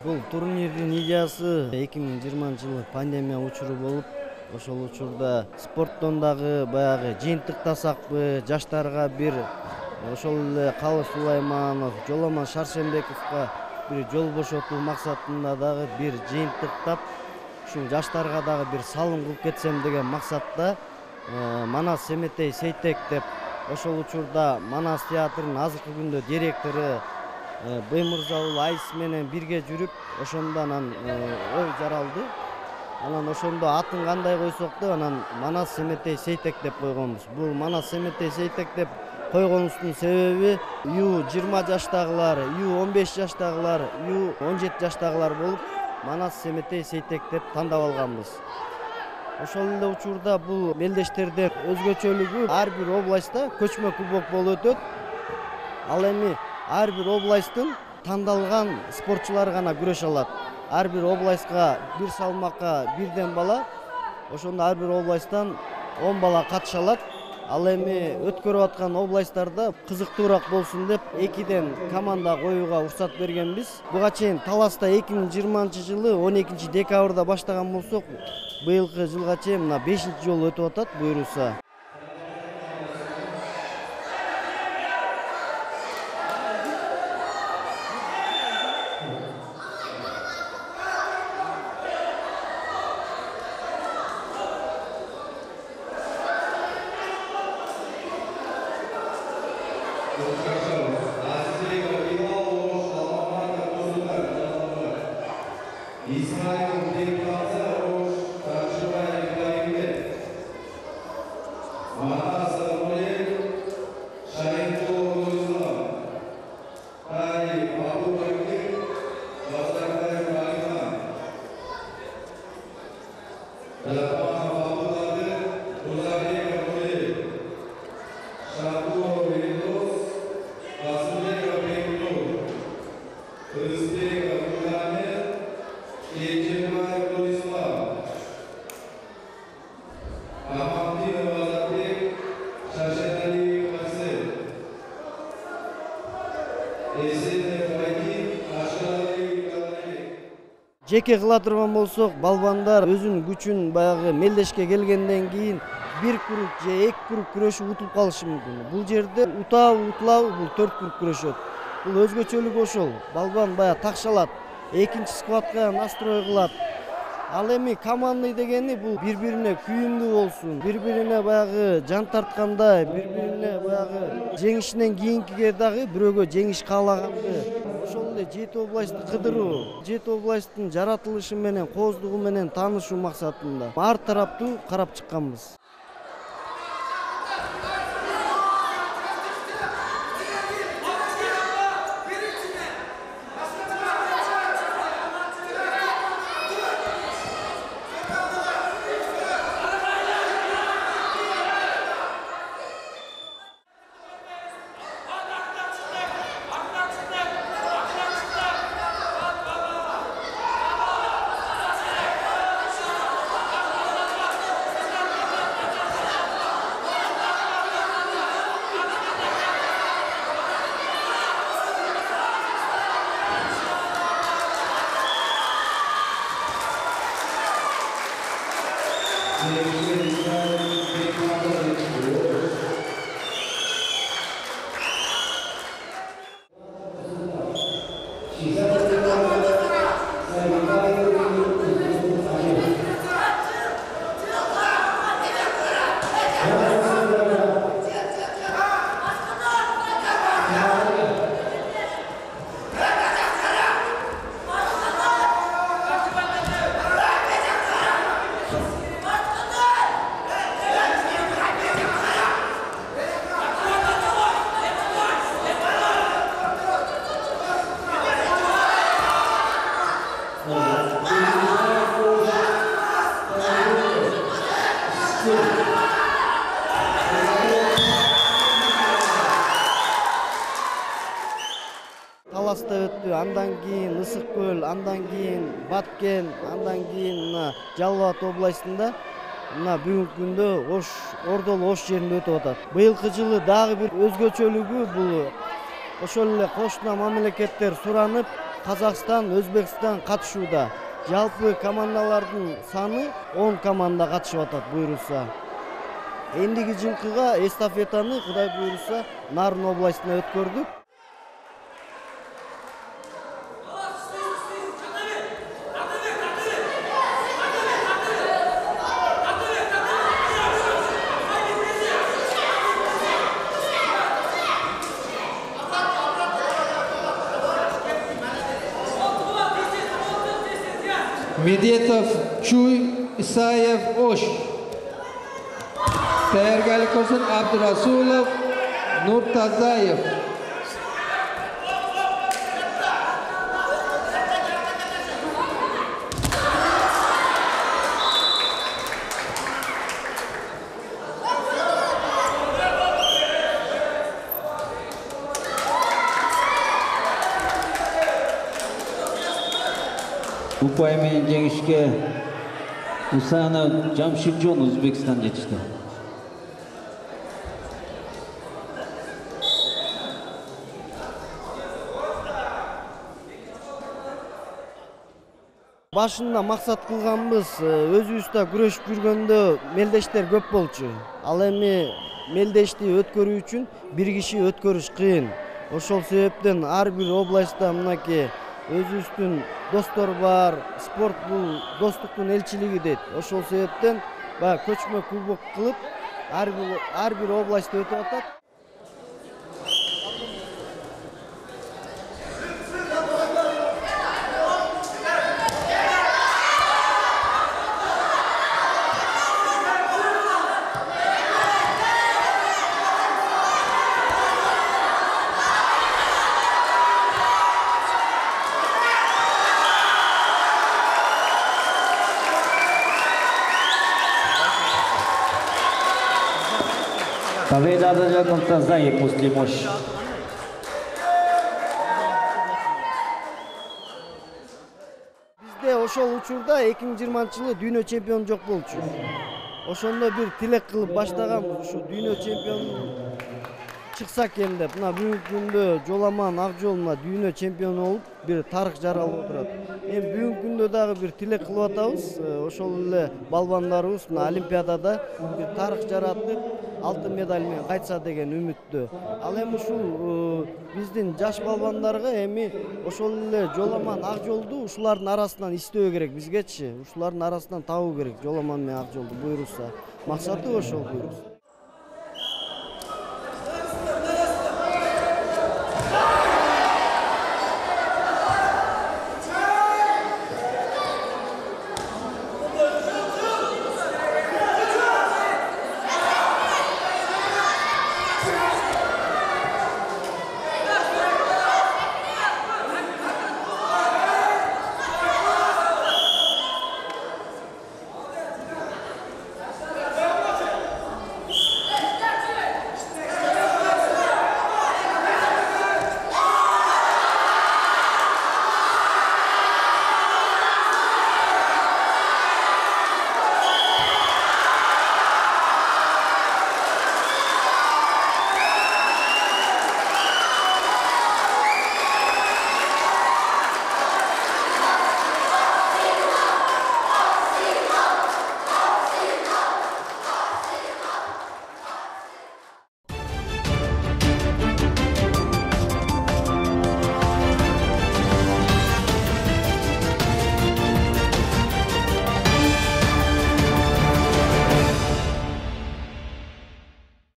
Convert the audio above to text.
Бул турнирдин идеясы 2020-жылы пандемия учуру болуп, ошол учурда спорттон дагы баягы жыйынтыктасакпы, жаштарга бир ошол эле Калы Сулайманов, Жоламан Шаршембековго бир жол бошотуу максатында дагы бир жыйынтыктап, ушул жаштарга дагы бир салым кылып кетсем деген максатта Манас Семетей Сейтек деп ошол учурда Манас театрынын азыркы күндө директору Баймырза Айс менен бирге жүрүп, ошондо анан ой жаралды. Анан ошондо атын кандай койсок деп, анан Манас Семетей Сейтек деп койгонбуз. Бул Манас Семетей Сейтек деп койгонубуздун себеби U20 жаштагылар, U15 жаштагылар, U17 жаштагылар болуп, Манас Семетей Сейтек деп тандап алганбыз. Ошол эле учурда бул мелдештерден өзгөчөлүгү ар бир областта көчмө кубок болуп өтөт. Ал эми ар бир областтын тандалган спортчулары гана күрөшө алат. Ар бир областка бир салмакка бирден бала, ошондо ар бир областтан 10 бала катыша алат. Ал эми өткөрүп аткан областтарда кызыктуураак болсун деп 2ден команда коюуга уруксат бергенбиз. Буга чейин Таласта 2020-жылы 12 декабрда баштаган болсок, быйылкы жылга чейин мына 5-жолу өтүп атат буйруса. Жеке кыла турган болсок, балбандар өзүнүн күчүн баягы мелдешке келгенден кийин бир круг же 2 круг күрөшүп утуп калышы мүмкүн. Бул жерде утабы утулабы бул 4 круг күрөшөт. Бул өзгөчөлүгү ошол. Балбан баягы такшалат, экинчи сквадка настрой кылат. Ал эми командный дегени бул бири-бирине күйүндүү болсун, бири-бирине баягы жан тарткандай, бири-бирине баягы жеңишинен кийинкиге дагы бирөөгө жеңиш каалаганды. Ошол эле 7 областты кыдыруу, 7 областтын жаратылышы менен, кооздугу менен таанышуу максатында ар тараптуу карап чыкканбыз. Таласта өттү, андан кийин Ысык көл, андан кийин Баткен, андан кийин мына Жалал Абад областында мына бүгүнкү күндө Ордол Ош жеринде өтүп атат. Быйылкы жылы дагы бир өзгөчөлүгү бул ошол эле кошуна мамлекеттер суранып, Казакстан, Өзбекстан катышууда. Жалпы командалардын саны 10 команда катышып атат буйрулса. Эндиги жылкыга эстафетаны Кудай буйруса Нарын областына өткөрдүк. Медетов, Чуй, Исаев, Ош. Тayyorgarlik ko'rsin Abdurasulov, Nurtazayev. Upay менен жеңишке Усанов Жамшидjon Өзбекстан жетишти. Башында максат кылганбыз, өзүбүздө күрөшүп жүргөндө мелдештер көп болчу. Ал эми мелдешти өткөрүү үчүн бир киши өткөрүш кыйын. Ошол себептен ар бир областта мынакей өзүбүздүн достор бар, спорт бул достуктун элчилиги дейт. Ошол себептен баягы көчмө кубок кылып ар бир областта өтүп атат. Победа одержал Нуртазаев Муслим Ош. Бизде ошол учурда 2020-жылы дүйнө чемпиону жок болчу. Ошондо бир тилек кылып баштаганбыз, ушу дүйнө чемпиону чыкса экен деп. Мына бүгүнкү күндө Жоламан Акжол мына дүйнө чемпиону болуп, бир тарых жаралып отурат. Эми бүгүнкү күндө дагы бир тилек кылып атабыз. Ошол эле балбандарыбыз мына Олимпиадада бир тарых жаратып, алтын медаль менен кайтса деген үмүттө. Ал эми ушул биздин жаш балбандарга эми ошол эле Жоламан Акжолду ушулардын арасынан издөө керек бизгечи. Ушулардын арасынан табуу керек Жоламан менен Акжолду буйрулса. Максаты ошол буйрулса.